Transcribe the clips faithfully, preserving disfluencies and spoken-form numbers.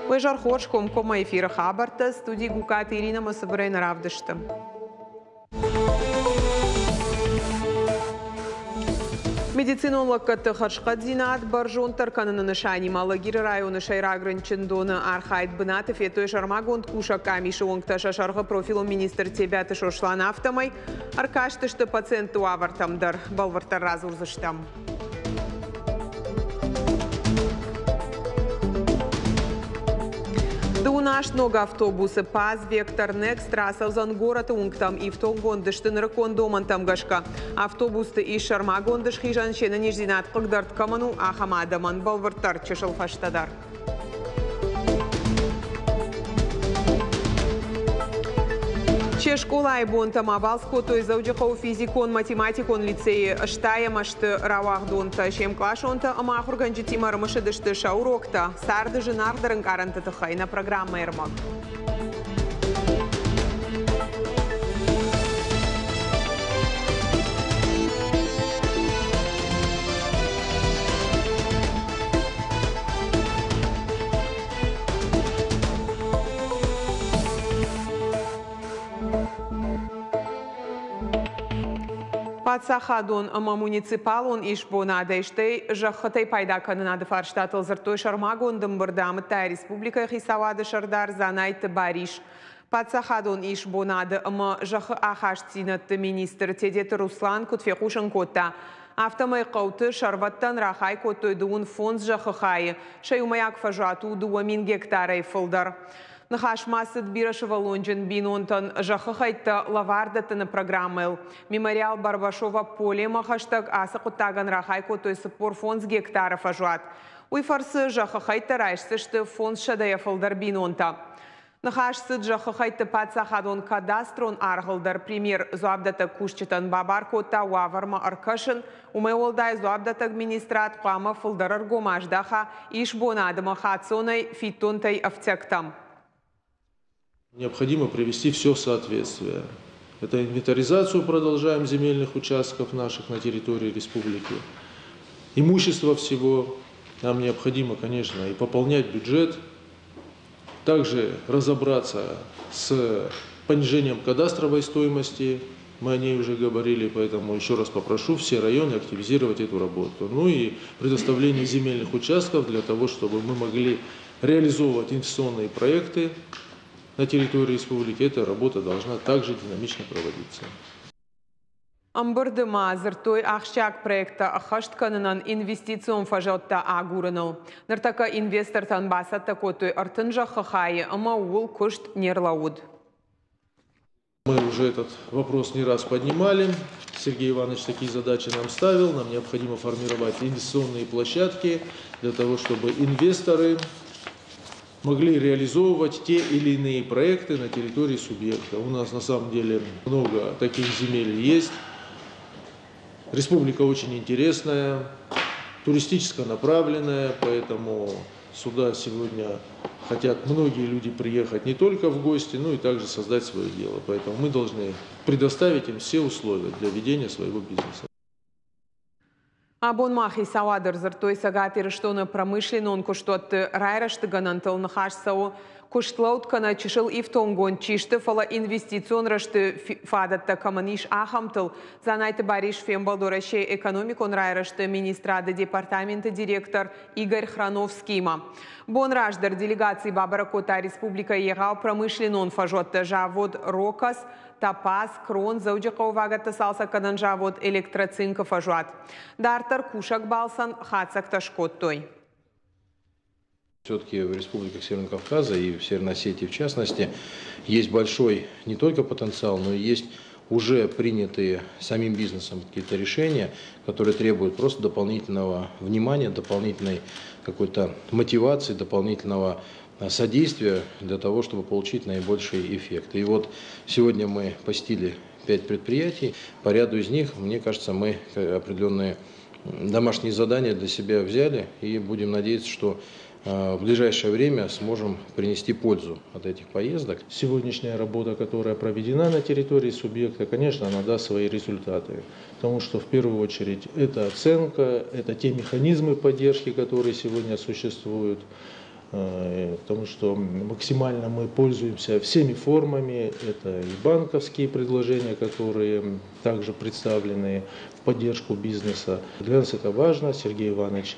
Уе зӕр хорз, комкоммӕ эфиры хабӕрттӕ, студи Гукаты Ирина ӕмӕ цыбырӕй нӕ равдысты. Медицинон лӕггӕдты хӕрзхъӕддзинад бӕрзонддӕр кӕныны нысанимӕ Алагиры районы сӕйраг рынчындоны архайд бынаты федтой сӕрмагонд кусӕг къамисы уӕнгтӕ сӕ сӕргъы профилон министр Тебиаты Сослан, афтӕмӕй ӕркастысты пациентты уавӕртӕм дӕр. Бӕлвырддӕр радзурдзыстӕм. Дыууын аст ног автобусы ПАЗ Вектор Некст рацӕудзӕн горӕты уынгтӕм, ифтонггонд сты нырыккон домӕнтӕм гӕсгӕ. Автобусты ис сӕрмагонд схизӕн, се нӕниздзинад хъыгдард кӕмӕн у, ахӕм адӕмӕн. Бӕлвырддӕр чысыл фӕстӕдӕр. Се скъолайы бонтӕм абалц кодтой Дзӕуджыхъӕуы физикон-математикон лицейы ӕстайӕм азты рауагъдонтӕ. Се мкъласонтӕ ӕмӕ ахуыргӕнджытимӕ ӕрымысыдысты сӕ уроктӕ, царды зынаргъдӕр ӕнкъарӕнты тыххӕй нӕ программӕйы ӕрмӕг. Паддзахадон ӕмӕ муниципалон исбонадӕй, стӕй зӕххытӕй пайда кӕнынады фарстатыл дзырдтой сӕрмагонд ӕмбырды, амыдта республикӕйы хицауады сӕрдар Дзанайты Барис. Паддзахадон исбонады ӕмӕ зӕххы ахастдзинӕдты министр Тедеты Руслан куыд фехъусын кодта, афтӕмӕй хъӕуты сӕрвӕттӕн рахай кодтой дыууын фондз зӕххы хайы, сӕ иумӕйаг фӕзуат у дыууӕ мин гектарӕй фылдӕр. Ныхас ма цыд бирӕсывӕллонджын бинонтӕн зӕххы хӕйттӕ лӕвар дӕттыны программӕйыл. Мемориал Барбашова полемӕ хӕстӕг ацы хъуыддагӕн рахай кодтой цыппор фондз гектары фӕзуат. Уый фӕрцы зӕххы хӕйттӕ райсдзысты фондзсӕдӕйӕ фылдӕр бинонтӕ. Ныхас цыд зӕххы хӕйтты паддзахадон кадастрон аргъыл дӕр. Премьер дзуапдӕттӕг кусджытӕн бабар кодта уавӕрмӕ ӕркӕсын. Уымӕй уӕлдай дзуапдӕттӕг министрад хъуамӕ фылдӕр ӕргом аздаха исбонады ӕмӕ хаццонӕй фиддонтӕй ӕфтиӕгтӕм. Необходимо привести все в соответствие. Это инвентаризацию продолжаем земельных участков наших на территории республики. Имущество всего нам необходимо, конечно, и пополнять бюджет, также разобраться с понижением кадастровой стоимости, мы о ней уже говорили, поэтому еще раз попрошу все районы активизировать эту работу. Ну и предоставление земельных участков для того, чтобы мы могли реализовывать инвестиционные проекты на территории республики. Эта работа должна также динамично проводиться. Ӕмбырды ма дзырдтой ахсджиаг проекттӕ ӕххӕст кӕнынӕн инвестицион фӕзуӕттӕ агурыныл. Ныртӕккӕ инвестортӕн бацӕттӕ кодтой ӕртын зӕххы хайы ӕмӕ ууыл куыст не рлӕууыд. Мы уже этот вопрос не раз поднимали. Сергей Иванович такие задачи нам ставил. Нам необходимо формировать инвестиционные площадки для того, чтобы инвесторы могли реализовывать те или иные проекты на территории субъекта. У нас на самом деле много таких земель есть. Республика очень интересная, туристически направленная, поэтому сюда сегодня хотят многие люди приехать не только в гости, но и также создать свое дело. Поэтому мы должны предоставить им все условия для ведения своего бизнеса. Абон ма хицауады ӕрдзырдтой Цӕгат Ирыстоны промышленнон куыстуӕтты райрӕзты гӕнӕнтыл. Ныхас цӕуы куыстлӕуд кӕнӕ чысыл ифтонггонд чи сты, фӕлӕ инвестицион рӕзты фадӕттӕ кӕмӕн ис, ахӕмтыл. Дзанайты Барис фембӕлд Уӕрӕсейы экономикон райрӕзты министрады департаменты директор Игорь Храновскиимӕ. Бон раздӕр делегаци бабӕрӕг кодта республикӕйы егъау промышленнон фӕзуӕтты завод «Рокос», Топаз, Крон, Дзӕуджыхъӕуы вагӕтты цалцӕггӕнӕн завод «Электроцинк»-ы фӕзуат. Дарддӕр кусӕг балцӕн хатдзӕгтӕ скодтой. Все-таки в республиках Северного Кавказа и в Северной Осетии в частности есть большой не только потенциал, но и есть уже принятые самим бизнесом какие-то решения, которые требуют просто дополнительного внимания, дополнительной какой-то мотивации, дополнительного содействия для того, чтобы получить наибольший эффект. И вот сегодня мы посетили пять предприятий. По ряду из них, мне кажется, мы определенные домашние задания для себя взяли и будем надеяться, что в ближайшее время сможем принести пользу от этих поездок. Сегодняшняя работа, которая проведена на территории субъекта, конечно, она даст свои результаты. Потому что в первую очередь это оценка, это те механизмы поддержки, которые сегодня существуют. Потому что максимально мы пользуемся всеми формами. Это и банковские предложения, которые также представлены в поддержку бизнеса. Для нас это важно. Сергей Иванович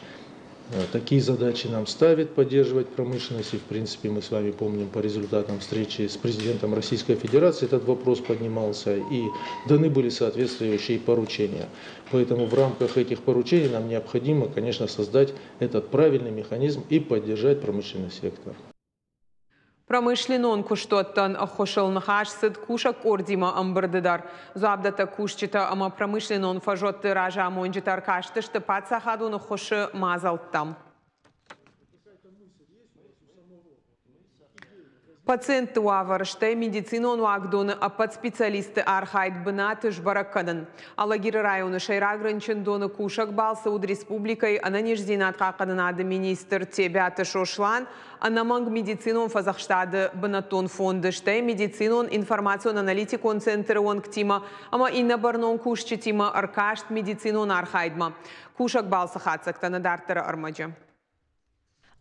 такие задачи нам ставит, поддерживать промышленность. И, в принципе, мы с вами помним по результатам встречи с президентом Российской Федерации этот вопрос поднимался, и даны были соответствующие поручения. Поэтому в рамках этих поручений нам необходимо, конечно, создать этот правильный механизм и поддержать промышленный сектор. Промышленнон куыстуӕттӕн ӕххуысыл ныхас цыд кусӕг къордимӕ ӕмбырды дӕр. Дзуапдӕттӕг кусджытӕ ӕмӕ промышленнон фӕзуӕтты разамонджытӕ ӕркастысты паддзахадон ӕххуысы мадзӕлттӕм. Пациентты уавӕр, стӕй медицинон уагдоны ӕппӕт специалистты архайд бынаты сбӕрӕг кӕнын. Алагиры районы сӕйраг рынчындоны кусӕг балцы уыд республикӕйы ӕнӕниздзинад хъахъхъӕнынады министр Тебиаты Сослан, ӕнӕмӕнг медицинон фӕдзӕхстады бынӕттон фонды, стӕй медицинон информацион-аналитикон центры уӕнгтимӕ ӕмӕ иннӕ бӕрнон кусджытимӕ ӕркаст медицинон архайдмӕ. Кусӕг балцы хатдзӕгтӕ нӕ дарддӕры ӕрмӕджы.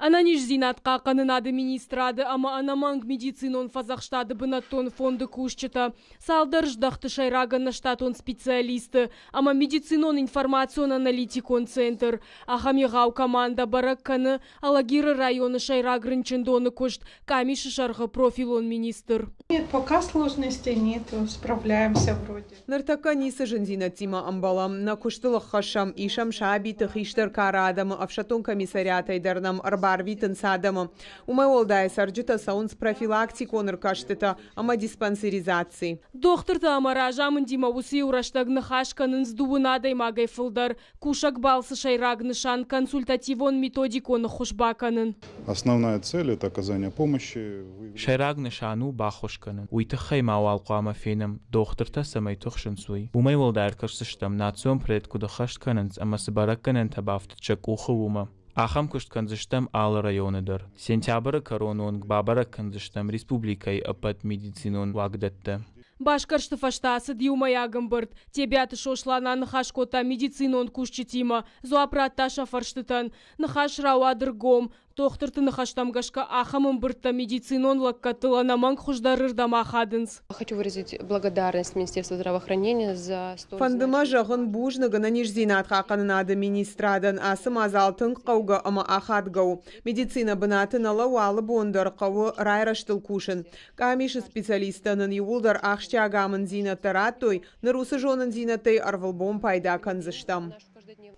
Ӕнӕниздзинад хъахъхъӕнынады министрады ӕмӕ ӕнӕмӕнг медицинон фӕдзӕхстады бынӕттон фонды кусджытӕ, цалдӕр здӕхты сӕйраг ӕнӕштатон специалисты ӕмӕ медицинон информацион-аналитикон центр. Ахӕм егъау командӕ бӕрӕг кӕны Алагиры районы сӕйраг рынчындоны куыст къамисы сӕргъы профилон министр. Нет, пока сложностей нет, справляемся вроде. Ныртӕккӕ ницы зындзинӕдтимӕ ӕмбӕлӕм, нӕ куыстыл ӕххӕссӕм, исӕм сабиты, хистӕр кары адӕмы, ӕфсӕддон комиссариатӕй дӕр нӕм ӕрбарвитынц адӕмы. Уымӕй уӕлдай цӕрджытӕ цӕуынц профилактикон ӕркастытӕ ӕмӕ диспансеризаци. Дохтыртӕ ӕмӕ разамындимӕ уыцы иу рӕстӕг ныхас кӕнынц дыууын адӕймагӕй фылдӕр. Кусӕг балцы сӕйраг нысан консультативон-методикон ӕххуыс бакӕнын. Основная цель – это оказание помощи. Сӕйраг нысан у баххуыс кӕнын. Уый тыххӕй ма уал хъуамӕ фенӕм, дохтыртӕ цӕмӕй тыхсынц, уый. Уымӕй уӕлдай ӕркӕсдзыстӕм, национ проект куыд ӕххӕст кӕнынц ӕмӕ цы бӕрӕггӕнӕнтӕ бафтыд сӕ къухы, уымӕ. Ахӕм куыст кӕндзыстӕм алы районы дӕр. Сентябры кӕроны онг бабӕрӕг кӕндзыстӕм республикӕйы ӕппӕт медицинон уагдӕттӕ. Басгӕрсты фӕстӕ ацыд иумӕйаг ӕмбырд. Тебиаты Сослан аныхас кодта медицинон кусджытимӕ, дзуапп радта сӕ фӕрстытӕн. Ныхас рауад ӕргом. Дохтырты ныхӕстӕм гӕсгӕ ахӕм ӕмбырдтӕ медицинон лӕггӕдтыл ӕнӕмӕнг хуыздӕрырдӕм ахадынц. Хочу выразить благодарность Министерству здравоохранения за столь Фӕнды мӕ зӕгъын бузныг ӕнӕниздзинад хъахъхъӕнынады министрадӕн. Ацы мадзал тынг хъӕугӕ ӕмӕ ахадгӕ у. Медицинӕ бынаты нӕ лӕууы, алы бон дӕр хъӕуы райрӕзтыл кусын. Къамисы специалисттӕ нын иууылдӕр ахсджиаг амынддзинӕдтӕ радтой, ныр уыцы зонындзинӕдтӕй ӕрвылбон пайда кӕндзыстӕм.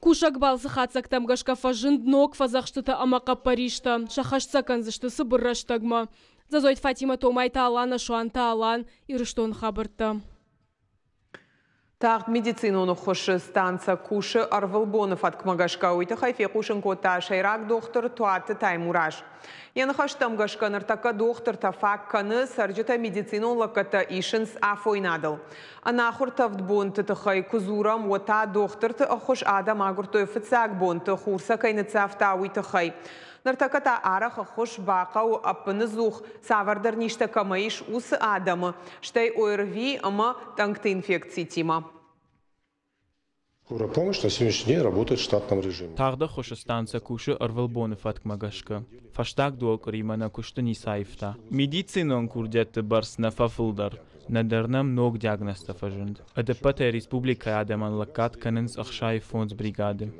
Кусӕг балцы хатдзӕгтӕм гӕсгӕ фӕзынд ног фӕдзӕхстытӕ ӕмӕ хъӕппӕристӕ. Сӕххӕст сӕ кӕндзысты цыбыр рӕстӕгмӕ. Дзӕдзойты Фатимӕ, Томайты Алана, Суанты Алан, Ирыстоны хабӕрттӕ. Тагъд медицинон ӕххуысы станцӕ кусы ӕрвылбоны фӕткмӕ гӕсгӕ. Уый тыххӕй фехъусын кодта сӕйраг дохтыр Туаты Таймураз. Йӕ ныхӕстӕм гӕсгӕ ныртӕккӕ дохтыртӕ фаг кӕны, цӕрджытӕ медицинон лӕггӕдтӕ исынц афойнадыл. Ӕнахуыр тӕвд бонты тыххӕй куы дзурӕм, уӕд та дохтырты ӕххуыс адӕм агуырдтой фыццаг бонты, хур сӕ кӕй ныццавта, уый тыххӕй. Ныртӕккӕ та арӕх ӕххуыс бахъӕуы ӕппыныдзух, цавӕрдӕр низтӕ кӕмӕ ис, уыцы адӕмы, стӕй ОРВИ ӕмӕ тъӕнгты инфекцитимӕ. Скорая помощь на сегодняшний день работает в штатном режиме. Тагъд ӕххуысы станцӕ кусы ӕрвылбоны фӕткмӕ гӕсгӕ. Фӕстаг дыууӕ къуыримӕ нӕ куысты ницы аивта. Медицинон курдиӕтты бӕрц нӕ фӕфылдӕр, нӕдӕр нӕм ног диагнозтӕ фӕзынд. Ӕдӕппӕтӕй республикӕйы адӕмӕн лӕггад кӕнынц ӕхсай фондз бригады.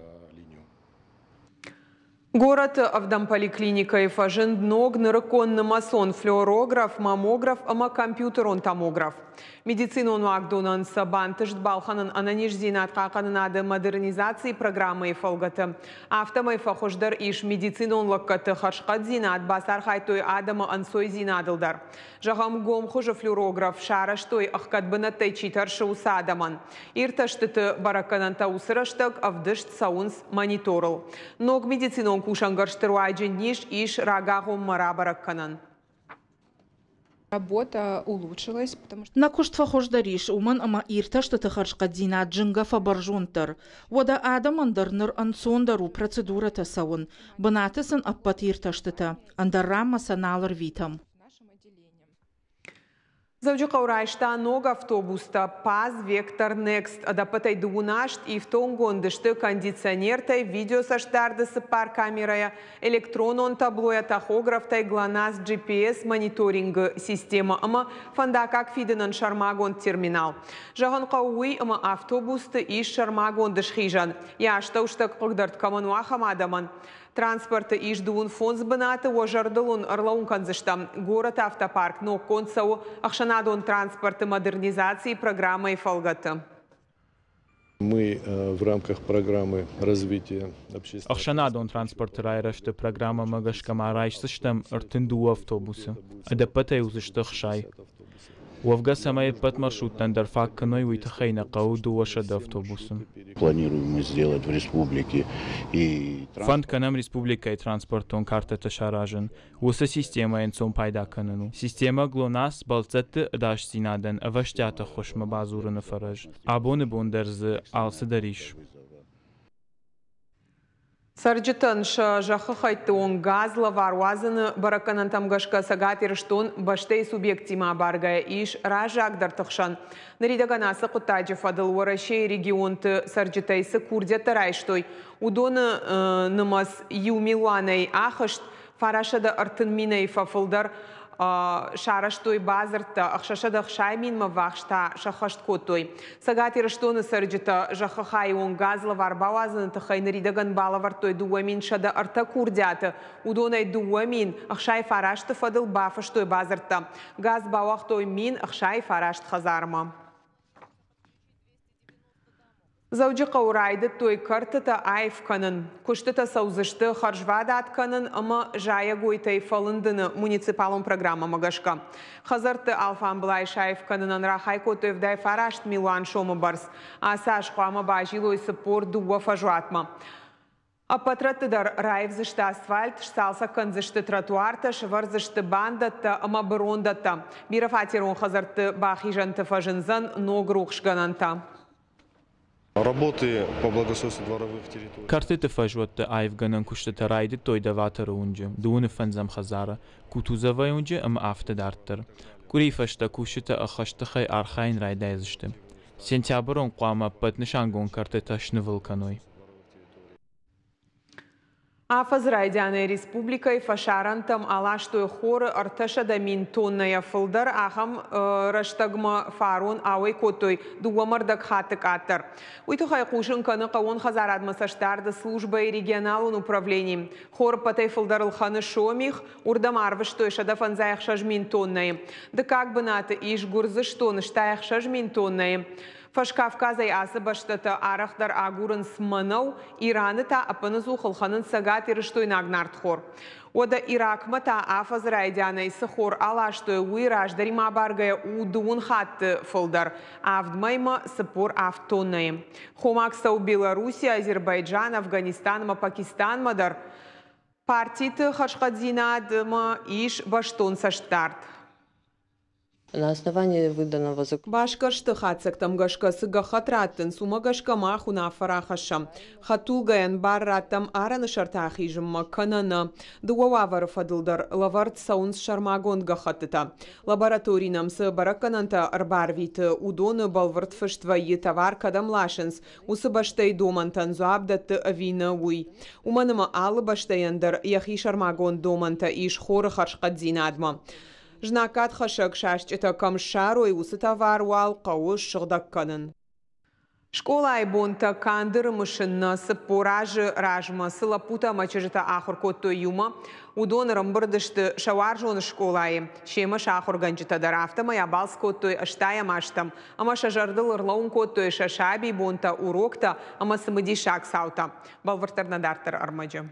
Горӕты ӕвдӕм поликлиникӕйы фӕзынд ног нырыккон нымӕцон флюорограф, маммограф ӕмӕ компьютерон томограф. Медицинон уагдонӕн сӕ бантыст балхӕнын ӕнӕниздзинад хъахъхъӕнынады модернизацийы программӕйы фӕлгӕты. Афтӕмӕй фӕхуыздӕр ис медицинон лӕггӕдты хӕрзхъӕддзинад, бацархайдтой адӕмы ӕнцойдзинадыл дӕр. Зӕгъӕм, гом хуызы флюорограф сарӕзтой ӕхгӕд бынӕттӕй чи тӕрсы, уыцы адӕмӕн. Иртӕстыты бӕрӕггӕнӕнтӕ уыцы рӕстӕг ӕвдыст цӕуынц мониторыл. Ног медицинон кусӕнгӕрзты руаджы низ ис рагагъоммӕ рабӕрӕг кӕнӕн. Работа улучшилась, потому что Нӕ куыст фӕхуыздӕр ис, уымӕн ӕмӕ иртӕстыты хӕрзхъӕддзинад зынгӕ фӕбӕрзонддӕр. Уӕдӕ адӕмӕн дӕр ныр ӕнцондӕр у процедурӕтӕ цӕуын. Бынаты сын ӕппӕт иртӕстытӕ, ӕндӕр ранмӕ сӕ нал ӕрвитӕм. нашим отделением. Дзӕуджыхъӕу райста ног автобустӕ ПАЗ Вектор Next. Ӕдӕппӕтӕй дыууын аст, ифтонггонд сты кондиционертӕй, видеоцӕстдарды цыппар камерӕйӕ, электронон таблойӕ, тахографтӕй, ГЛОНАСС, G P S мониторингы системӕ ӕмӕ фӕндаггаг фидынӕн сӕрмагонд терминал. Зӕгъын хъӕуы уый, ӕмӕ автобусты ис сӕрмагонд схизӕн. Йӕ астӕуыстӕг хъыгдӕрд кӕмӕн у, ахӕм адӕмӕн. Транспорты ис дыууын фондз бынаты. Уӕ зӕрдыл уын ӕрлӕууын кӕндзыстӕм: горӕты автопарк ноггонд цӕуы ӕхсӕнадон транспорты модернизацийы программӕйы фӕлгӕты. Мы э, в рамках программы развития общественного Ӕхсӕнадон транспорты райрӕзты программӕмӕ гӕсгӕ ма райсдзыстӕм ӕртын дыууӕ автобусы. Ӕдӕппӕтӕй уыдзысты ӕхсай. Уӕвгӕ, цӕмӕй ӕппӕт маршруттӕн дӕр фаг кӕной, уый тыххӕй нӕ хъӕуы дыууӕсӕдӕ автобусы. Планируем мы сделать в республике и Фӕнд кӕнӕм республикӕйы транспортон картӕтӕ саразын. Уыцы системӕйӕ ӕнцон пайда кӕнӕн у. Системӕ ГЛОНАСС бӕлццӕтты ӕдасдзинадӕн ӕвӕстиат ӕххуысмӕ бадзурыны фӕрӕз. Абоны бон дӕр дзы алцыдӕр ис. Цӕрджытӕн сӕ зӕххы хӕйтты онг газ лӕвар уадзыны бӕрӕггӕнӕнтӕм гӕсгӕ Цӕгат Ирыстон бӕстӕйы субъекттимӕ абаргӕйӕ ис раззагдӕрты хсӕн. Ныридӕгӕн ацы хъуыддаджы фӕдыл Уӕрӕсейы регионты цӕрджытӕй цы курдиӕттӕ райстой, уыдоны нымӕц иу милуанӕй ахызт, фарастсӕдӕ ӕртын минӕй фӕфылдӕр сарӕзтой бадзырдтӕ, ӕхсӕзсӕдӕ ӕхсай минмӕ ввахс та сӕххӕст кодтой. Цӕгат Ирыстоны цӕрджытӕ зӕххы хайы онг газ лӕвар бауадзыны тыххӕй ныридӕгӕн балӕвӕрдтой дыууӕ мин сӕдӕ ӕртӕ курдиаты, уыдонӕй дыууӕ мин ӕхсай фарасты фӕдыл бафыстой бадзырдтӕ. Газ бауагътой мин ӕхсай фараст хӕдзармӕ. Дзӕуджыхъӕуы райдыдтой кӕртытӕ аив кӕнын. Куыстытӕ цӕудзысты хӕрзвадат кӕнын ӕмӕ зайӕгойтӕй фӕлындыны муниципалон программӕмӕ гӕсгӕ. Хӕдзӕртты алфамбылай саив кӕнынӕн рахай кодтой ӕвдай фараст милуан сомы бӕрц. Ацы аз хъуамӕ базилой цыппор дыууӕ фӕзуатмӕ. Ӕппӕт рӕтты дӕр раивдзысты асфальт, сцалцӕг кӕндзысты тротуартӕ, сӕвӕрдзысты бандӕттӕ ӕмӕ бырондӕттӕ. Бирӕфатерон хӕдзӕртты бахизӕнты фӕзындзӕн ног рухсгӕнӕнтӕ. Работы по благоустройству дворовых территорий. Кӕртыты фӕзуӕтты аивгӕнӕн куыстытӕ райдыдтой Доваторы уынджы, дыууыны фӕндзӕм хӕдзары, Кутузовайы уынджы ӕмӕ афтӕ дарддӕр. Къуырийы фӕстӕ кусджытӕ ӕххӕст тыхӕй архайын райдайдзысты. Сентябры онг хъуамӕ ӕппӕт нысангонд кӕртытӕ снывыл кӕной. Афӕдзы райдианӕй республикӕйы фӕсарӕнтӕм аластой хоры ӕртӕсӕдӕ мин тоннӕйӕ фылдӕр, ахӕм рӕстӕгмӕ фарон ауӕй кодтой дыууӕ ӕрдӕг хатты къаддӕр. Уый тыххӕй хъусын кӕны хъӕууон хӕдзарадмӕ цӕстдарды службӕйы регионалон управлени. Хор ӕппӕтӕй фылдӕр ӕлхӕны Сомих, уырдӕм арвыстой сӕдӕ фӕндзай ӕхсӕз мин тоннӕйы. Дыккаг бынаты ис Гуырдзыстон, стай ӕхсӕз мин тоннӕйы. Фӕскавказӕй ацы бӕстӕтӕ арӕхдӕр агурынц мӕнӕу, Ираны та ӕппынӕдзух ӕлхӕнынц цӕгатирыстойнаг нартхор. Уӕдӕ Иракмӕ та афӕдзы райдианӕй цы хор аластой, уый раздӕримӕ абаргӕйӕ у дыууын хатты фылдӕр, авд мӕймӕ цыппор авд тоннӕйы. Хомаг цӕуы Белорусси, Азербайджан, Афганистан ӕмӕ Пакистанмӕ дӕр. Партиты хӕрзхъӕддзинадмӕ ис бӕстон цӕстдард. На основании выданного Басгӕрсты хатдзӕгтӕм гӕсгӕ цы гӕххӕтт раттынц, уымӕ гӕсгӕ мах уынаффӕ рахӕссӕм: хӕдтулгӕйӕн бар раттӕм арӕны сӕрты ахизынмӕ, кӕнӕ нӕ. Дыууӕ уавӕры фӕдыл дӕр лӕвӕрд цӕуынц сӕрмагонд гӕххӕттытӕ. Лаборатори нӕм цы бӕрӕггӕнӕнтӕ ӕрбарвиты, уыдоны бӕлвырд фыст вӕййы, товар кӕдӕм ласынц, уыцы бӕстӕйы домӕнтӕн дзуапп дӕтты ӕви нӕ, уый. Уымӕн ӕмӕ алы бӕстӕйӕн дӕр йӕхи сӕрмагонд домӕнтӕ ис хоры хӕрзхъӕддзинадмӕ. Знаггадхӕссӕг сасчъытӕ кӕм ссарой, уыцы товар уал хъӕуы ссыгъдӕг кӕнын. Скъолайы бонтӕ канд ӕрымысын нӕ, цыппор азы размӕ цы лӕппутӕ ӕмӕ чызджытӕ ахуыр кодтой иумӕ, уыдон ӕрӕмбырд сты сӕ уарзон скъолайы. Семӕ сӕ ахуыргӕнджытӕ дӕр, афтӕмӕй абалц кодтой ӕстайӕм азтӕм ӕмӕ сӕ зӕрдыл ӕрлӕууын кодтой сӕ сабибонтӕ, уроктӕ ӕмӕ цымыдисаг цаутӕ. Бӕлвырддӕр нӕ дарддӕр ӕрмӕджы.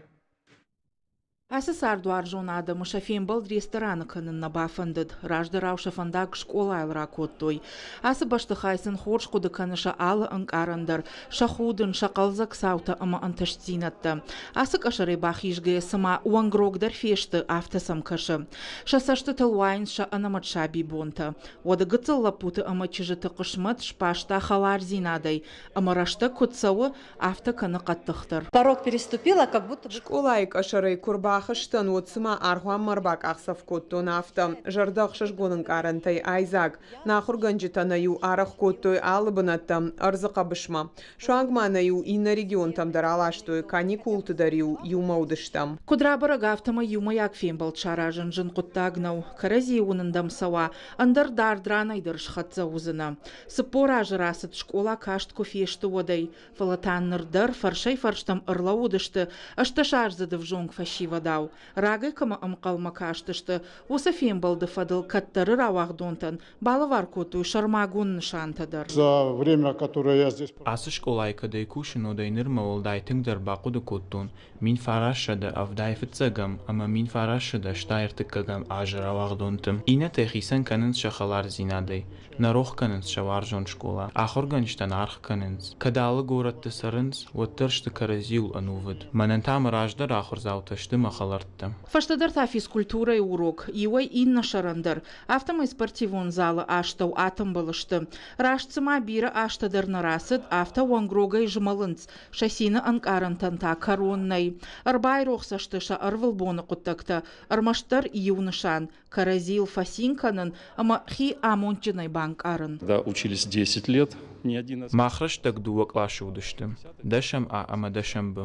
Ацы цардуарзон адӕмы сӕ фембӕлд рестораны кӕнын нӕ бафӕндыд. Раздӕрау сӕ фӕндаг скъолайыл ракодтой. Ацы бӕстыхай сын хорз хъуыды кӕны сӕ алы ӕнкъарӕн дӕр, сӕ худын, сӕ хъӕлдзӕг цаутӕ ӕмӕ ӕнтыстдзинӕдтӕ. Ацы къӕсӕрӕй бахизгӕйӕ цыма уӕнгрогдӕр фесты, афтӕ сӕм кӕсы. Сӕ цӕстытыл уайынц сӕ ӕнӕмӕт сабибонтӕ. Уӕды гыццыл лӕппуты ӕмӕ чызджыты хъысмӕт сбаста хӕлардзинадӕй, ӕмӕ рӕстӕг куыд цӕуы, афтӕ кӕны хъӕддыхдӕр. Порог переступила, как будто бы Скъолайы къӕсӕрӕй куы бахызтӕн, уӕд цыма аргъуанмӕ ӕрбакъахдзӕф кодтон, афтӕ. Зӕрдӕ ӕхсызгон ӕнкъарӕнтӕй айдзаг. Нӕ ахуыргӕнджытӕ нӕ-иу арӕх кодтой алы бынӕттӕм, ӕрдзы хъӕбысмӕ. Суанг ма нӕ-иу иннӕ регионтӕм дӕр аластой, каникулты дӕр-иу иумӕ уыдыстӕм. Куыд рабӕрӕг, афтӕмӕй иумӕйаг фембӕлд саразын зын хъуыддаг нӕу. Кӕрӕдзийы уынын дӕм цӕуа, ӕндӕр дард ранӕй дӕр схӕццӕ уыдзынӕ. Цыппор азы рацыд, скъола каст куы фесты, уӕдӕй. Фӕлӕ та ныр дӕр фӕрсӕй-фӕрстӕм ӕрлӕууыдысты ӕстдӕсаздзыд ӕвзонг фӕсивӕдау. Рагӕй кӕмӕ ӕнхъӕлмӕ кастысты, уыцы фембӕлды фӕдыл кӕддӕры рауагъдонтӕн балӕвар кодтой сӕрмагонд нысантӕ дӕр. За время, которое я здесь Ацы скъолайы кӕдӕй кусын, уӕдӕй нырмӕ уӕлдай тынгдӕр бахъуыды кодтон мин фарастсӕдӕ ӕвдай фыццӕгӕм ӕмӕ мин фарастсӕдӕ стай ӕртыккӕгӕм азы рауагъдонты. Иннӕтӕй хицӕн кӕнынц сӕ хӕлардзинадӕй, нӕ рох кӕнынц сӕ уарзон скъола. Ахуыргӕнджытӕн аргъ кӕнынц. Кӕд алы горӕтты цӕрынц, уӕддӕр сты кӕрӕдзиуыл ӕнувыд. Мӕнӕн та мӕ раздӕры ахуырдзаутӕ сты мӕ хӕлӕрттӕ. Фӕстӕдӕр та физкультурӕйы урок, иуӕй иннӕ сӕрӕндӕр, афтӕмӕй спортивон залы астӕу атымбыл сты. Раст цыма бирӕ азтӕ дӕр нӕ рацыд, афтӕ уӕнгрогӕй змӕлынц, сӕ цины ӕнкъарӕнтӕн та кӕрон нӕй. Ӕрбайрох сӕ сты сӕ ӕрвылбоны хъуыддӕгтӕ, ӕрмӕстдӕр иу нысан – кӕрӕдзийыл фӕцин кӕнын ӕмӕ хи амондджынӕй банкъарын. Да, учились десять лет, не один. Мах рӕстӕг дыууӕ къласы уыдысты, дӕсӕм А ӕмӕ дӕсӕм Б.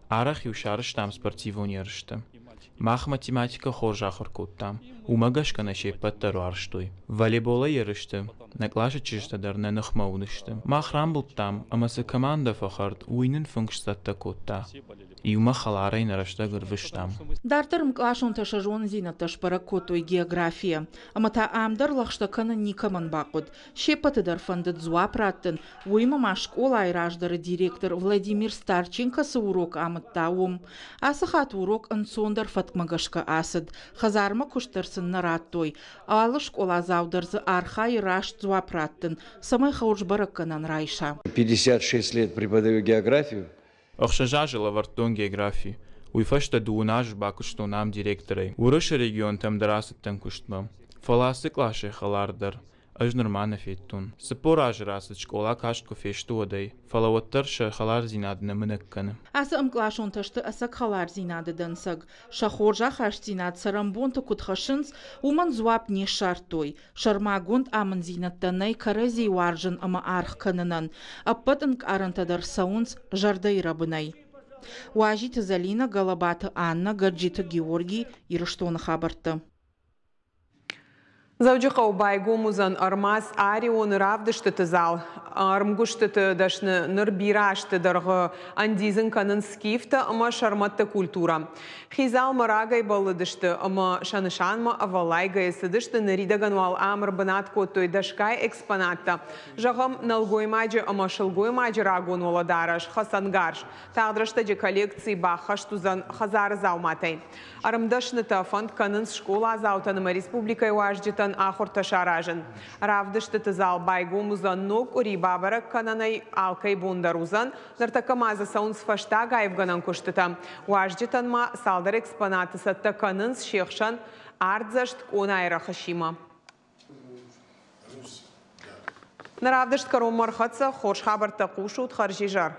Арӕх-иу сарӕзтам спортивон ерыстӕ. Мах математикӕ хорз ахуыр кодтам, уымӕ гӕсгӕ нӕ се ппӕт дӕр уарзтой. Волейболӕй ерысты нӕ къласы чызджытӕ дӕр нӕ ныхмӕ уыдысты. Мах рамбылдтам, ӕмӕ цы командӕ фӕхӕрд, уый нын фынг сцӕттӕ кодта. Иумӕ хӕларӕй нӕ рӕстӕг ӕрвыстам. Дарддӕр ӕмкъласонтӕ сӕ зонындзинӕдтӕ сбӕрӕг кодтой географийӕ. Ӕмӕ та ам дӕр лӕгъстӕ кӕнын никӕмӕн бахъуыд. Се ппӕты дӕр фӕндыд дзуапп раттын, уыимӕ ма скъолайы раздӕры директор Владимир Старченко цы урок амыдта, уым. Ацы хатт урок ӕнцондӕр фӕткмӕ гӕсгӕ ацыд. Хӕдзармӕ куыст дӕр сын нӕ радтой. Алы скъоладзау дӕр дзы архайы раст дзуапп раттын, цӕмӕй хорз бӕрӕггӕнӕн райса. Пятьдесят шесть лет преподаю географию. Ӕхсӕз азы лӕвӕрдтон географи. Уый фӕстӕ дыууын азы бакуыстон ам директорӕй. Уырысы регионтӕм дӕр ацыдтӕн куыстмӕ. Фӕлӕ ацы къласӕй хӕлардӕр ӕз нырма нӕ федтон. Цыппор азы рацыд, скъола каст куы фесты, уӕдӕй, фӕлӕ уӕддӕр сӕ хӕлардзинад нӕ мынӕг кӕны. Ацы ӕмкъласонтӕ сты ӕцӕг хӕлардзинады дӕнцӕг. Сӕ хорз ахастдзинад цӕрӕнбонты куыд хӕссынц, уымӕн дзуапп не ссардтой. Сӕрмагонд амынддзинӕдтӕ нӕй кӕрӕдзи уарзын ӕмӕ аргъ кӕнынӕн. Ӕппӕт ӕнкъарӕнтӕ дӕр цӕуынц зӕрдӕйы рӕбынӕй. Уазиты Залина, Галабаты Анна, Гаджиты Георгий, Ирыстоны хабӕрттӕ. Дзӕуджыхъӕуы байгом уыдзӕн ӕрмадз Арионы равдыстыты зал. Ӕрмгуыстыты дӕсны ныр бирӕ азты дӕргъы ӕндидзын кӕнынц скифтӕ ӕмӕ сӕрмӕтты культурӕ. Хи залмӕ рагӕй бӕллыдысты ӕмӕ сӕ нысанмӕ ӕвӕллайгӕйӕ цыдысты, ныридӕгӕн уал ам ӕрбынат кодтой дӕсгай экспонаттӕ. Зӕгъӕм, нӕлгоймаджы ӕмӕ сылгоймаджы рагон уӕлӕдарӕс, хӕцӕнгарз. Тагъд рӕстӕджы коллекци баххӕст уыдзӕн хӕдзары дзауматӕй. Ӕрмдӕснытӕ фӕнд кӕнынц скъоладзаутӕн ӕмӕ республикӕйы уазджытӕн ахуыртӕ саразын. Равдыстыты зал байгом уыдзӕн ног къуыри, бабӕрӕг кӕнӕнӕй алкӕй бон дӕр уыдзӕн. Ныртӕккӕ ма дзы цӕуынц фӕстаг аивгӕнӕн куыстытӕ. Уазджытӕн ма цалдӕр экспонаты цӕттӕ кӕнынц, се хсӕн ардзӕст къонайы рӕхысимӕ. Нӕ равдыст кӕронмӕ ӕрхӕццӕ, хорз хабӕрттӕ хъусут, хӕрзизӕр.